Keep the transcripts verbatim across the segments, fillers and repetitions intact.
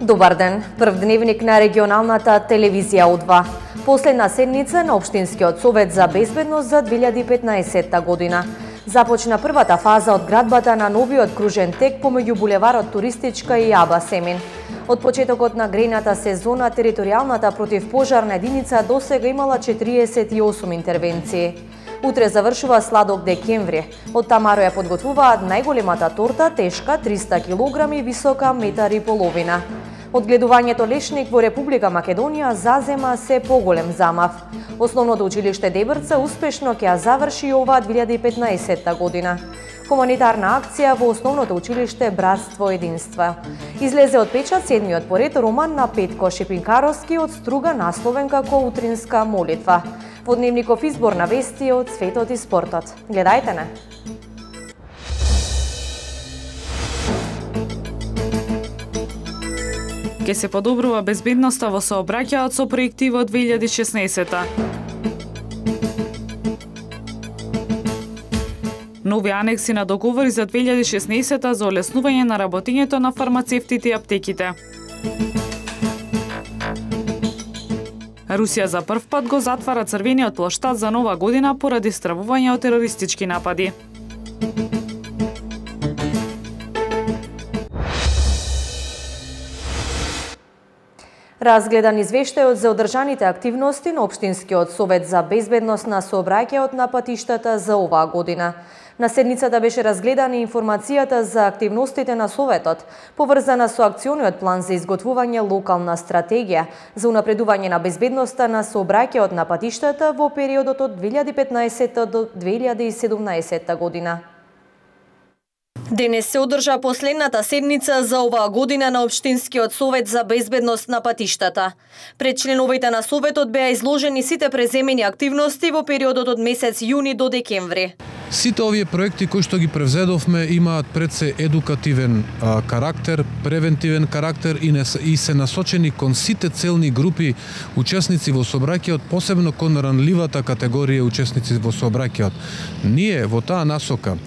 Добар ден, прв дневник на регионалната телевизија Удва. Последна седница на Општинскиот совет за безбедност за две илјади и петнаесетта година. Започна првата фаза од градбата на новиот кружен тек помеѓу булеварот Туристичка и Аба Семин. Од почетокот на грејната сезона, територијалната противпожарна единица досега имала четириесет и осум интервенции. Утре завршува сладок декември. Од тамаро ја подготвуваат најголемата торта, тешка триста килограми, висока метар и половина. Одгледувањето лешник во Република Македонија зазема се поголем замав. Основното училиште Дебрца успешно ќе ја заврши оваа две илјади и петнаесетта година. Хуманитарна акција во основното училиште Братство единство. Излезе од печат седмиот поред роман на Петко Шипинкаровски од струга насловен како Утринска молитва. Во дневников избор на вести од светот и спортот. Гледајте не! Ке се подобрува безбедноста во сообраќајот со проекти во две илјади и шеснаесетта. Нови анекси на договори за две илјади и шеснаесетта за олеснување на работењето на фармацевтите и аптеките. Русија за прв пат го затвара црвениот плоштад за нова година поради стравување од терористички напади. Разгледан извештајот за одржаните активности на Општинскиот совет за безбедност на сообраќајот на патиштата за оваа година. На седницата беше разгледана информацијата за активностите на Советот, поврзана со акциониот план за изготвување локална стратегија за унапредување на безбедноста на сообраќајот на патиштата во периодот од две илјади и петнаесетта до две илјади и седумнаесетта година. Денес се одржа последната седница за оваа година на Општинскиот совет за безбедност на патиштата. Пред членовите на Советот беа изложени сите преземени активности во периодот од месец јуни до декември. Сите овие проекти кои што ги превзедовме имаат пред се едукативен а, карактер, превентивен карактер и, не, и се насочени кон сите целни групи учесници во сообраќајот, посебно кон ранливата категорија учесници во сообраќајот. Ние во таа насока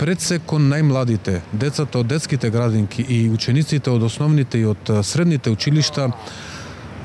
пред се кон најмладите, децата од детските градинки и учениците од основните и од средните училишта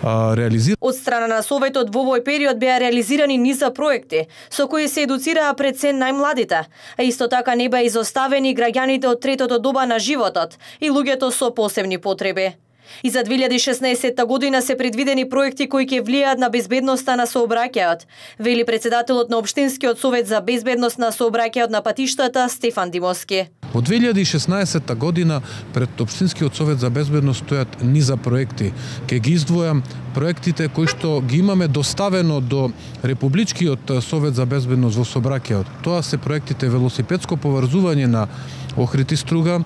реализира. Од страна на Советот во овој период беа реализирани низа проекти со кои се едуцираа пред се најмладите, а исто така не беа изоставени граѓаните од третото доба на животот и луѓето со посебни потреби. И за две илјади и шеснаесетта година се предвидени проекти кои ќе влијаат на безбедноста на сообраќајот, вели председателот на Општинскиот совет за безбедност на сообраќајот на патиштата Стефан Димовски. Во две илјади и шеснаесетта година пред Општинскиот совет за безбедност стојат низа проекти. Ке ги издвојам проектите кои што ги имаме доставено до Републичкиот совет за безбедност во сообраќајот. Тоа се проектите велосипедско поврзување на Охрид и Струга,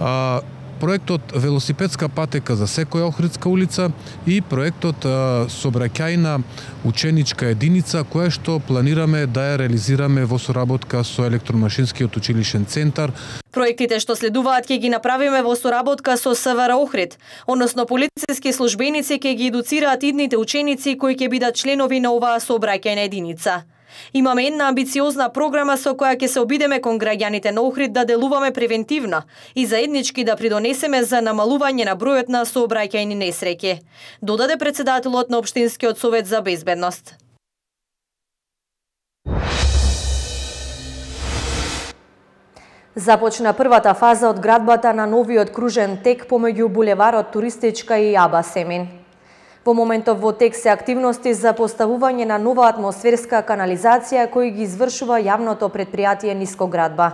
а, проектот велосипедска патека за секоја Охридска улица и проектот сообраќајна ученичка единица која што планираме да ја реализираме во соработка со електромашинскиот училишен центар. Проектите што следуваат ќе ги направиме во соработка со СВР Охрид, односно полициски службеници ќе ги едуцираат идните ученици кои ќе бидат членови на оваа сообраќајна единица. Имаме една амбициозна програма со која ќе се обидеме кон граѓаните на Охрид да делуваме превентивно и заеднички да придонесеме за намалување на бројот на сообраќајни несреќи, додаде председателот на Општинскиот совет за безбедност. Започна првата фаза од градбата на новиот кружен тек помеѓу булеварот Туристичка и Аба Семин. Во моментов во тек се активности за поставување на нова атмосферска канализација кои ги извршува јавното предпријатие Нискоградба.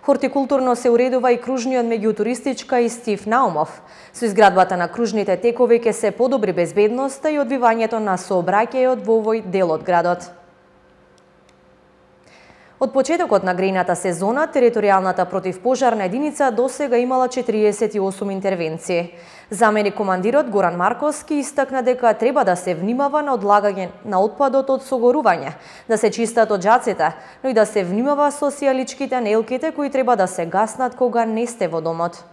Хортикултурно се уредува и кружниот меѓу Туристичка и Стив Наумов. Со изградбата на кружните текови ќе се подобри безбедноста и одвивањето на сообраќајот во овој дел од градот. Од почетокот на грејната сезона, територијалната противпожарна единица досега имала четириесет и осум интервенции. Заменик командирот Горан Марковски истакна дека треба да се внимава на одлагање на отпадот од согорување, да се чистат оджаците, но и да се внимава со сијаличките нелките кои треба да се гаснат кога не сте во домот.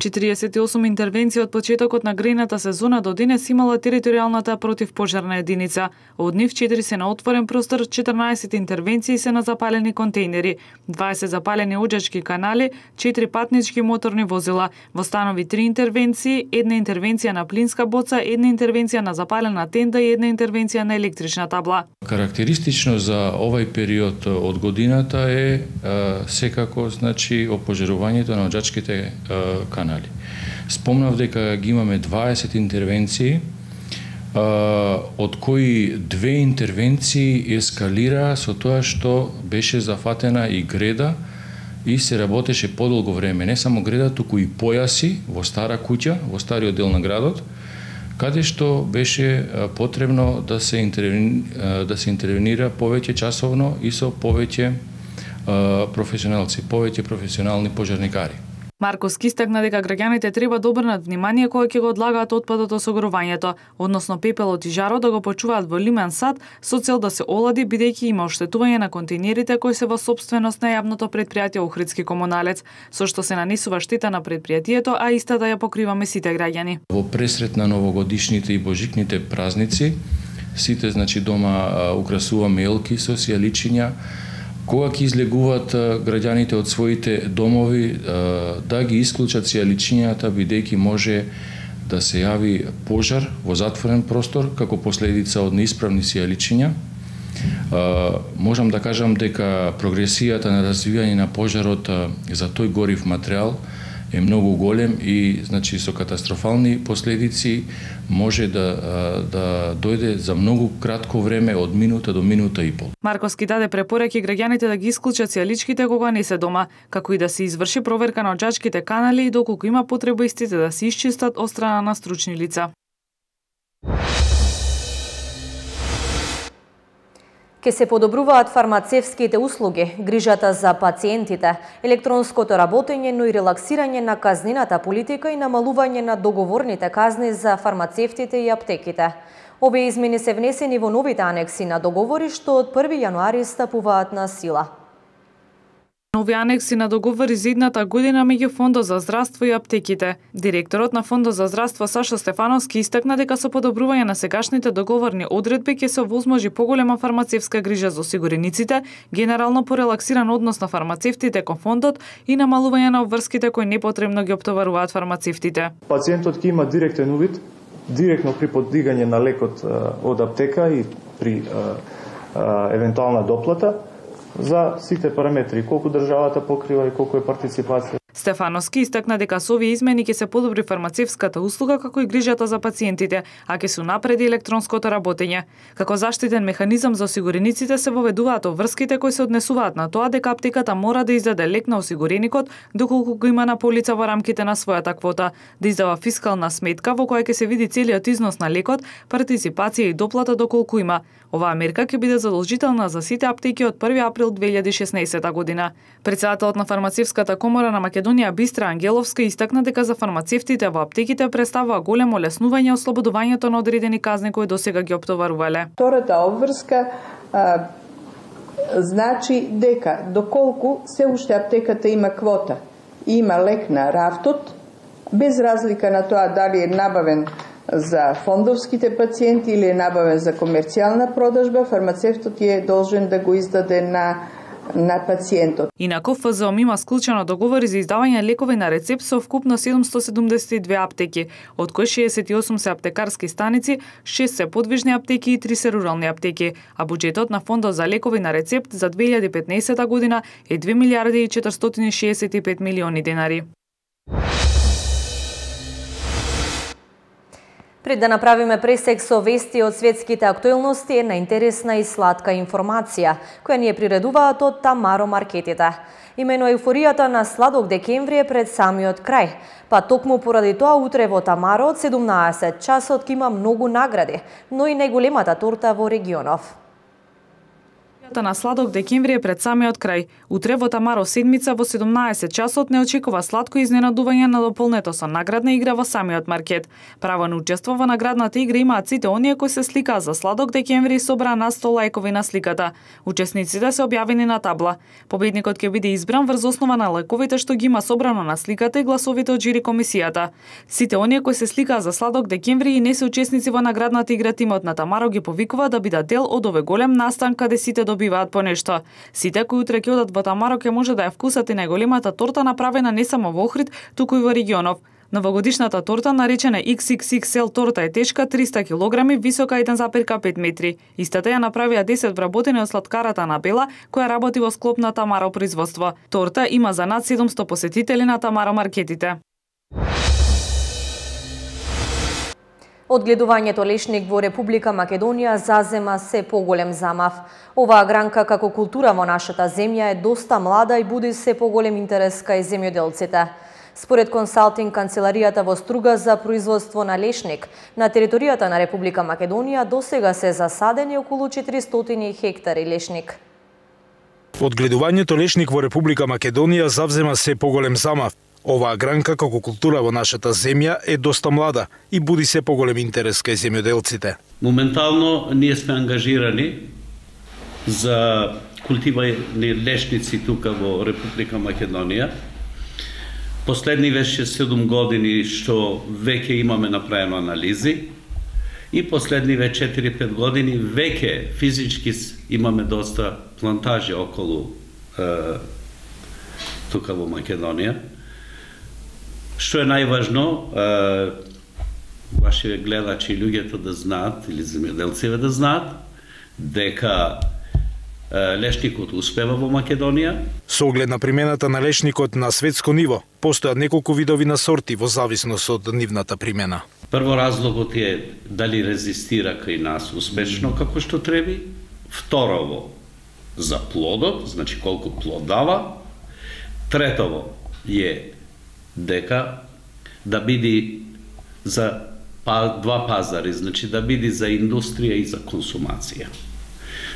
четириесет и осум интервенции од почетокот на грејната сезона до денес имала територијалната противпожарна единица. Од нив четири се на отворен простор, четрнаесет интервенции се на запалени контејнери, дваесет запалени оџачки канали, четири патнички моторни возила. Во станови три интервенции, една интервенција на плинска боца, една интервенција на запалена тенда и една интервенција на електрична табла. Карактеристично за овај период од годината е а, секако значи опожарувањето на оџачките а, канали. Спомнав дека ги имаме дваесет интервенции, од кои две интервенции ескалира со тоа што беше зафатена и греда и се работеше подолго време. Не само греда, туку и појаси во стара куќа, во стариот дел на градот, каде што беше потребно да се интервенира, да се интервенира повеќе часовно и со повеќе професионалци, повеќе професионални пожарникари. Марковски истакна дека граѓаните треба да обрнат внимание кога ќе го одлагаат отпадот од огревањето, односно пепелот и жарот да го почуваат во лимен сад со цел да се олади, бидејќи има оштетување на контејнерите кои се во сопственост на јавното претпријатие Охридски комуналец, со што се нанесува штета на претпријатието, а истата ја покриваме сите граѓани. Во пресрет на новогодишните и божикните празници, сите значи дома а, украсуваме елки со сијаличиња. Кога ќе излегуваат граѓаните од своите домови, да ги исклучат сијаличињата, бидејќи може да се јави пожар во затворен простор како последица од неисправни сијаличиња. Можам да кажам дека прогресијата на развивање на пожарот за тој горив материјал е многу голем и значи со катастрофални последици може да да дојде за многу кратко време, од минута до минута и пол. Марковски даде препораки граѓаните да ги исклучат сијаличките кога не се дома, како и да се изврши проверка на оџачките канали и доколку има потреба истите да се исчистат од страна на стручни лица. Ке се подобруваат фармацевските услуги, грижата за пациентите, електронското работење, но и релаксирање на казнената политика и намалување на договорните казни за фармацевтите и аптеките. Овие измени се внесени во новите анекси на договори што од први јануари стапуваат на сила. Нови анекси на договори за идната година меѓу Фондот за здравство и аптеките. Директорот на Фондот за здравство Сашо Стефановски истакна дека со подобрување на сегашните договорни одредби ќе се овозможи поголема фармацевска грижа за осигурениците, генерално порелаксиран однос на фармацевтите кон фондот и намалување на обврските кои непотребно ги оптоваруваат фармацевтите. Пациентот ќе има директен увид, директно при поддигање на лекот од аптека и при а, а, евентуална доплата, за сите параметри, колку државата покрива и колку е партиципација. Стефановски истакна дека со овие измени ќе се подобри фармацевската услуга како и грижата за пациентите, а ќе се унапреди електронското работење. Како заштитен механизам за осигурениците се воведуваат обврските кои се однесуваат на тоа дека аптеката мора да издаде лек на осигуреникот доколку го има на полица во рамките на својата квота, да издава фискална сметка во која ќе се види целиот износ на лекот, партиципација и доплата доколку има. Оваа мерка ќе биде задолжителна за сите аптеки од први април две илјади и шеснаесета година. Председателот на фармацевската комора на Македонија Бистра Ангеловска истакна дека за фармацевтите во аптеките представува големо олеснување ослободувањето на одредени казни кои досега ги оптоварувале. Втората обврска а, значи дека доколку се уште аптеката има квота и има лек на рафтот, без разлика на тоа дали е набавен за фондовските пациенти или е набавен за комерцијална продажба, фармацевтот е должен да го издаде на на пациентот. Инаку Ф З О М има склучено договори за издавање лекови на рецепт со вкупно седумсто седумдесет и две аптеки, од кои шеесет и осум се аптекарски станици, шест се подвижни аптеки и три се рурални аптеки, а буџетот на Фондот за лекови на рецепт за две илјади и петнаесета година е две милијарди и четиристотини и шеесет и пет милиони денари. Пред да направиме пресек со вести од светските актуелности, една интересна и сладка информација, која ни е приредуваат од Тамаро маркетите. Имено еуфоријата на сладок декември е пред самиот крај, па токму поради тоа утре во Тамаро од седумнаесет часот ќе има многу награди, но и најголемата торта во регионов. на Сладок декември е пред самиот крај. Утре во Тамаро седмица во седумнаесет часот не очекува сладко изненадување на дополнето со наградна игра во самиот маркет. Право на учество во наградната игра имаат сите оние кои се сликаа за Сладок декември и собраа на сто лајкови на сликата. Учесниците се објавени на табла. Победникот ќе биде избран врз основа на лајковите што ги има собрано на сликата и гласовите од жири комисијата. Сите оние кои се сликаа за Сладок декември и не се учесници во наградната игра, тимот на Тамаро ги повикува да бидат дел од овој голем настан каде сите добиваат по нешто. Сите кои утре ќе одат во Тамаро ќе може да ја вкусат и најголемата торта направена не само во Охрид, туку и во регионов. Новогодишната торта, наречена икс икс икс ел торта, е тешка триста килограми, висока еден запир пет метри. Истата ја направија десет вработени од сладкарата на Бела, која работи во склоп на Тамаро производство. Торта има за над седумсто посетители на Тамаро маркетите. Одгледувањето лешник во Република Македонија зазема се поголем замав. Оваа гранка како култура во нашата земја е доста млада и буди се поголем интерес кај земјоделците. Според консалтинг канцеларијата во Струга за производство на лешник, на територијата на Република Македонија досега се засадени околу четиристотини хектари лешник. Одгледувањето лешник во Република Македонија завзема се поголем замав. Оваа гранка како култура во нашата земја е доста млада и буди се поголем интерес кај земјоделците. Моментално ние сме ангажирани за култивани лешници тука во Република Македонија. Последни веќе седум години што веќе имаме направено анализи и последни ве четири-пет години веќе физички имаме доста плантажи околу е, тука во Македонија. Што е најважно, вашите гледачи и луѓето да знаат, или земјоделците да знаат, дека лешникот успева во Македонија. Со оглед на примената на лешникот на светско ниво, постојат неколку видови на сорти во зависност од нивната примена. Прво разлогот е дали резистира кај нас успешно како што треби. Второво, за плодот, значи колку плод дава. Третово е дека да биде за два пазари, значи да биде за индустрија и за консумација.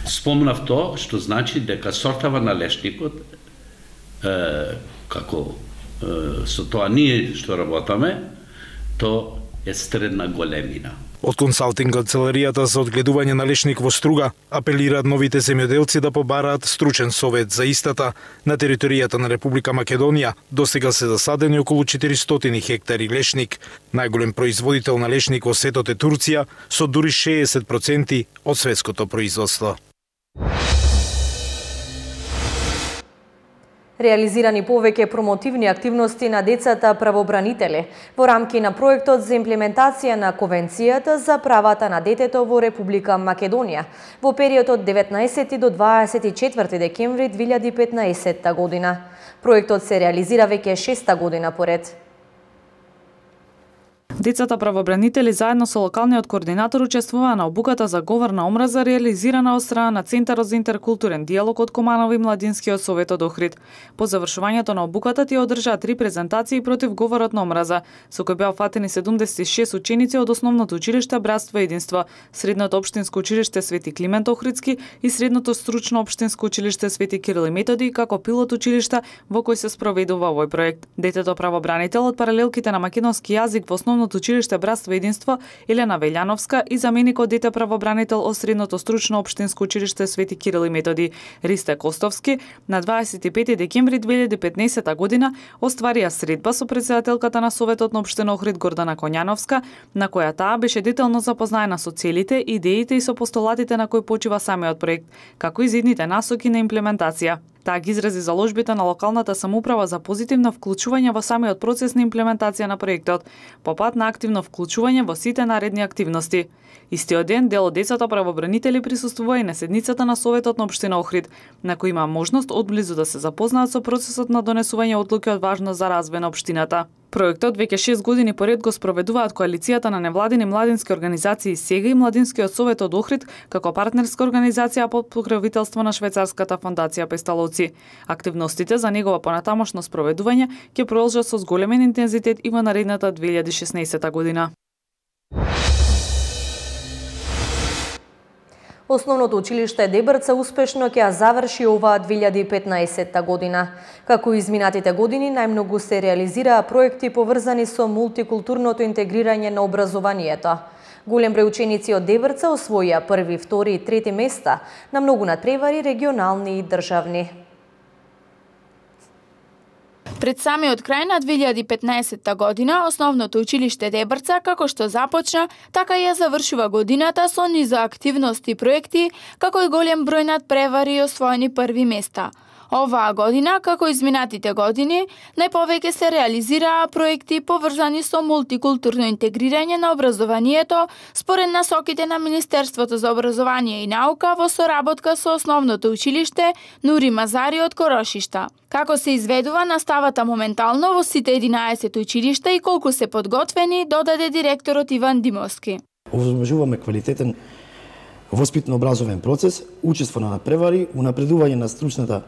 Спомнав тоа што значи дека сортава на лешникот, е, како е, со тоа ние што работаме, то е средна големина. Од консалтинг канцеларијата за одгледување на лешник во Струга апелираат новите земјоделци да побараат стручен совет за истата. На територијата на Република Македонија досега се засадени околу четиристотини хектари лешник. Најголем производител на лешник во светот е Турција со дури шеесет проценти од светското производство. Реализирани повеќе промотивни активности на децата правобранители во рамки на проектот за имплементација на Конвенцијата за правата на детето во Република Македонија во периодот деветнаесети до дваесет и четврти декември две илјади и петнаесетта година. Проектот се реализира веќе шеста година поред. Децата правобранители заедно со локалниот координатор учествуваа на обуката за говор на омраза реализирана од страна на Центарот за интеркултурен диалог од Команово и Младинскиот совет од Охрид. По завршувањето на обуката тие одржаа три презентации против говорот на омраза, со кои беа фатени седумдесет и шест ученици од основното училиште Братство и единство, средното општинско училиште Свети Климент Охридски и средното стручно општинско училиште Свети Кирил и Методи како пилот училишта во кој се спроведува овој проект. Детето правобранител од паралелките на македонски јазик во основното училиште Братство и единство Елена Велјановска и заменикот дете правобранител од средното стручно општинско училиште Свети Кирил и Методи Ристе Костовски на дваесет и пети декември две илјади и петнаесетта година остварија средба со претседателката на Советот на општина Охрид Гордана Коњановска, на која таа беше детално запознаена со целите, идеите и со постулатите на кои почива самиот проект, како и зидните насоки на имплементација. Таа ги изрази заложбите на локалната самоуправа за позитивно вклучување во самиот процес на имплементација на проектот, по пат на активно вклучување во сите наредни активности. Истиот ден дел од децата правобранители присуствува и на седницата на Советот на општина Охрид, на кој има можност одблизу да се запознаат со процесот на донесување одлуки од важност за развој на општината. Проектот веќе шест години поред го спроведуваат коалицијата на невладини младински организации СЕГА и Младинскиот совет од Охрид како партнерска организација под покровителство на швајцарската фондација Песталовци. Активностите за негова понатамошно спроведување ќе продолжат со зголемен интензитет и во наредната две илјади и шеснаесетта година. Основното училиште Дебрца успешно ќе ја заврши оваа две илјади и петнаесетта година. Како изминатите години, најмногу се реализираа проекти поврзани со мултикултурното интегрирање на образованието. Голем број ученици од Дебрца освоија први, втори и трети места на многу надпревари регионални и државни. Пред самиот крај на две илјади и петнаесетта година, основното училиште Дебрца, како што започна, така и ја завршува годината со низа активности и проекти, како и голем број надпревари и освоени први места. Оваа година, како изминатите години, најповеќе се реализираа проекти поврзани со мултикултурно интегрирање на образованието според насоките на Министерството за образование и наука во соработка со основното училиште Нури Мазари од Корошишта. Како се изведува наставата моментално во сите единаесет училишта и колку се подготвени, додаде директорот Иван Димовски. Овозможуваме квалитетен воспитно-образовен процес, учество на надпревари, унапредување на стручната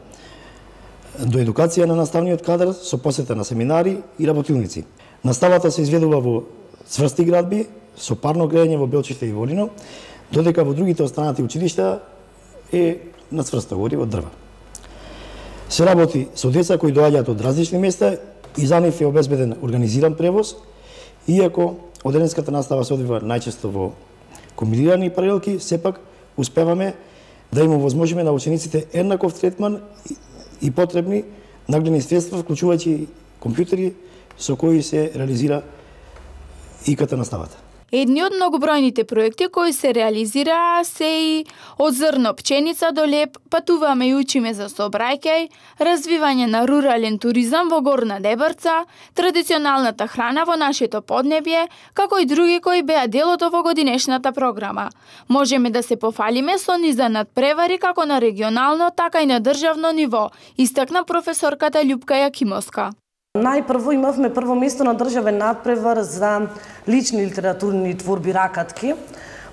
до едукација на наставниот кадар со посета на семинари и работилници. Наставата се изведува во цврсти градби, со парно грејање во Белчиште и Волино, додека во другите останати училишта е на цврсто гориво од дрва. Се работи со деца кои доаѓаат од различни места и за нив е обезбеден организиран превоз, иако одделенската настава се одвива најчесто во комбинирани паралелки, сепак успеваме да им овозможиме на учениците еднаков третман и потребни нагледни средства, вклучувајќи компјутери со кои се реализира и иката наставата. Едни од многобројните проекти кои се реализираа се и од зрно пченица до леп, патуваме и учиме за сообраќај, развивање на рурален туризам во Горна Дебрца, традиционалната храна во нашето поднебје, како и други кои беа дел од овогодинешната програма. Можеме да се пофалиме со низа надпревари како на регионално, така и на државно ниво, истакна професорката Љупка Јакимовска. Најпрво имавме прво место на државен надпревар за лични литературни творби ракатки,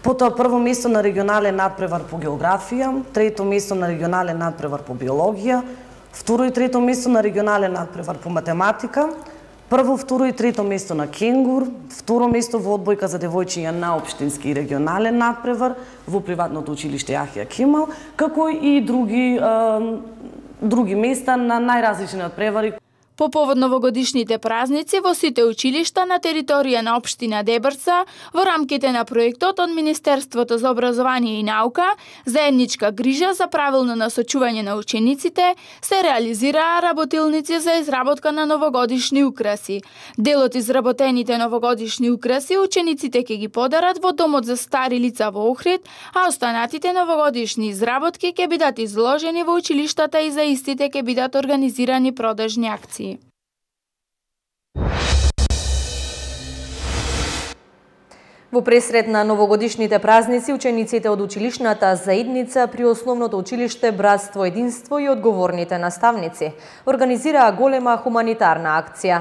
потоа прво место на регионален надпревар по географија, трето место на регионален надпревар по биологија, второ и трето место на регионален надпревар по математика, прво, второ и трето место на кенгур, второ место во одбојка за девојчиња на општински и регионален надпревар во приватното училиште Јахја Кемал, како и други, е, други места на најразлични надпревари. По повод новогодишните празници во сите училишта на територија на општина Дебрца, во рамките на проектот од Министерството за образование и наука, заедничка грижа за правилно насочување на учениците, се реализираа работилници за изработка на новогодишни украси. Дел од изработените новогодишни украси учениците ќе ги подарат во домот за стари лица во Охрид, а останатите новогодишни изработки ќе бидат изложени во училиштата и за истите ќе бидат организирани продажни акции. Во пресред на новогодишните празници, учениците од училишната заедница при основното училиште Братство, единство и одговорните наставници организираа голема хуманитарна акција.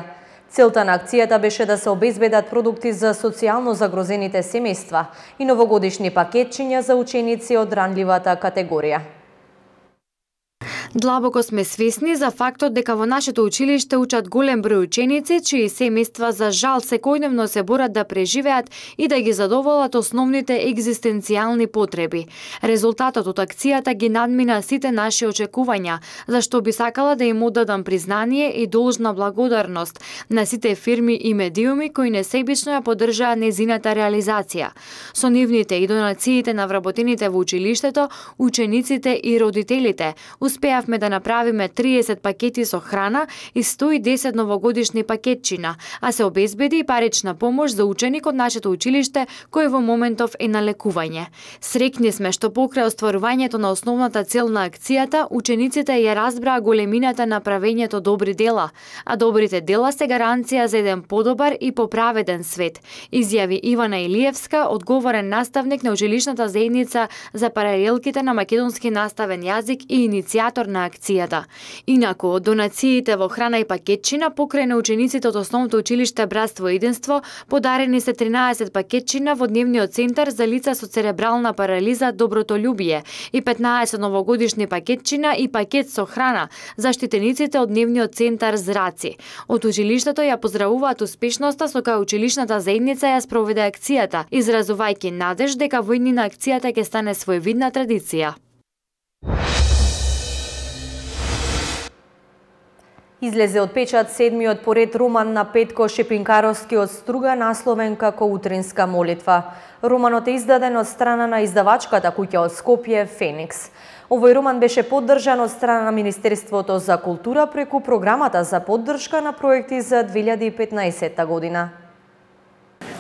Целта на акцијата беше да се обезбедат продукти за социјално загрозените семејства и новогодишни пакетчиња за ученици од ранливата категорија. Длабоко сме свесни за фактот дека во нашето училиште учат голем број ученици чии семејства за жал секојдневно се борат да преживеат и да ги задоволат основните екзистенцијални потреби. Резултатот од акцијата ги надмина сите наши очекувања, зашто би сакала да им оддадам признание и должна благодарност на сите фирми и медиуми кои несебично ја поддржаа незината реализација. Со нивните и донациите на вработените во училиштето, учениците и родителите успеавме да направиме триесет пакети со храна и сто и десет новогодишни пакетчина, а се обезбеди и парична помош за ученик од нашето училиште кој во моментов е на лекување. Срекни сме што покрај остварувањето на основната цел на акцијата, учениците ја разбраа големината на правењето добри дела, а добрите дела се гаранција за еден подобар и поправеден свет, изјави Ивана Илиевска, одговорен наставник на училишната заедница за паралелките на македонски наставен јазик и иницијатор спонзор на акцијата. Инаку, донациите во храна и пакетчина покрај на учениците од Основното училиште Братство и единство подарени се тринаесет пакетчина во дневниот центар за лица со церебрална парализа Добротолюбие и петнаесет новогодишни пакетчина и пакет со храна заштитениците од дневниот центар Зраци. Од училиштето ја поздравуваат успешноста со која училишната заедница ја спроведе акцијата, изразувајќи надеж дека во иднина акцијата ќе стане своевидна традиција. Излезе од печат седмиот поред роман на Петко Шепинкаровски од Струга, насловен како Утринска молитва. Романот е издаден од страна на издавачката куќа од Скопје Феникс. Овој роман беше поддржан од страна на Министерството за култура преку програмата за поддршка на проекти за две илјади и петнаесетта година.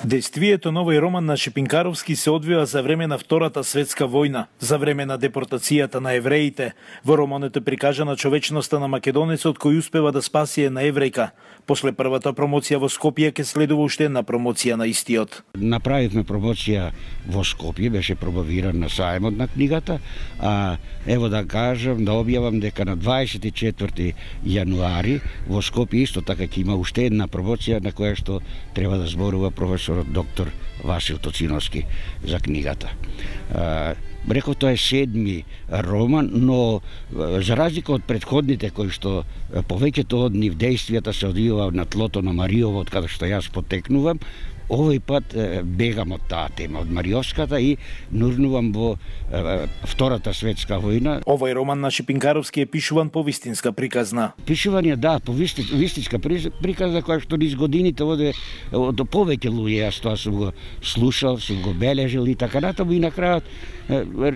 Дејствието на овој роман на Шепинкаровски се одвива за време на Втората светска војна, за време на депортацијата на евреите. Во романот е прикажана човечноста на македонецот кој успева да спаси една еврејка. После првата промоција во Скопје ќе следува уште една промоција на истиот. Направивме промоција во Скопје, беше промовиран на сајмот на книгата, а ево да кажам, да објавам дека на дваесет и четврти јануари во Скопје исто така ќе има уште една промоција на која што треба да зборува професорот доктор Васил Тоциновски за книгата. Реков, тоа е седми роман, но за разлика од предходните кои што повеќето од нив дејствијата се одвива на тлото на Мариово, од каде што јас потекнувам, овој пат бегам од таа тема, од Мариовската и нурнувам во Втората светска војна. Овој роман на Шепинкаровски е пишуван по вистинска приказна. Пишуван е, да, по вистинска приказна, која што низ годините оде до повеќе луѓе, јас тоа сум го слушал, сум го бележил и така натаму, и на крајот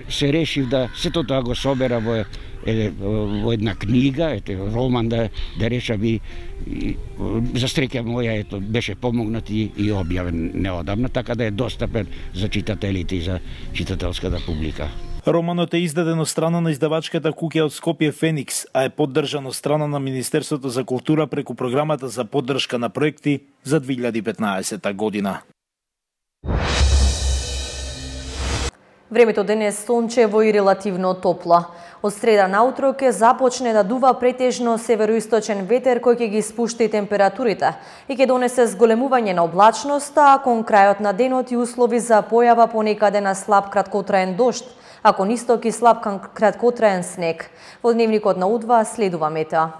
се решив да сето тоа го собера во во една книга, ете роман да да решам и, и за среќа моја ето беше помогнат и, и објавен неодамна, така да е достапен за читателите и за читателската публика. Романот е издаден од страна на издавачката куќа од Скопје Феникс, а е поддржан од страна на Министерството за култура преку програмата за поддршка на проекти за две илјади и петнаесетта година. Времето денес сончево и релативно топло. Од среда наутро ќе започне да дува претежно североисточен ветер кој ќе ги спушти температурите и ќе донесе зголемување на облачноста, а кон крајот на денот и услови за појава понекаде на слаб краткотраен дожд, а кон исток и слаб краткотраен снег. Во дневникот на Удва следува метео.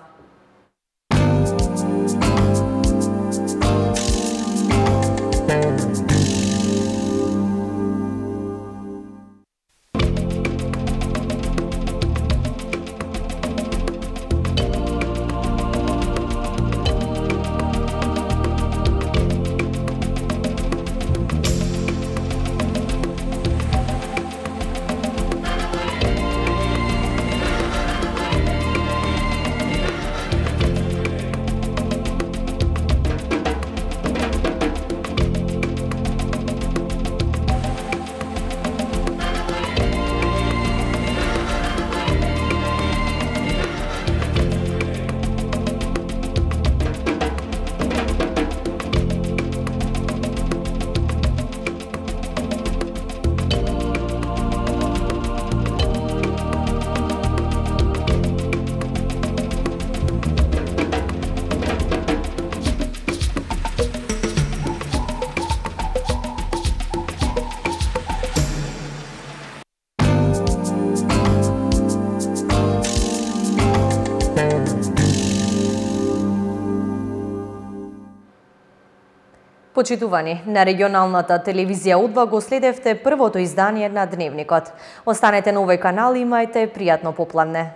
Почитувани, на регионалната телевизија Удва го следевте првото издание на Дневникот. Останете на овој канал и имајте пријатно попладне.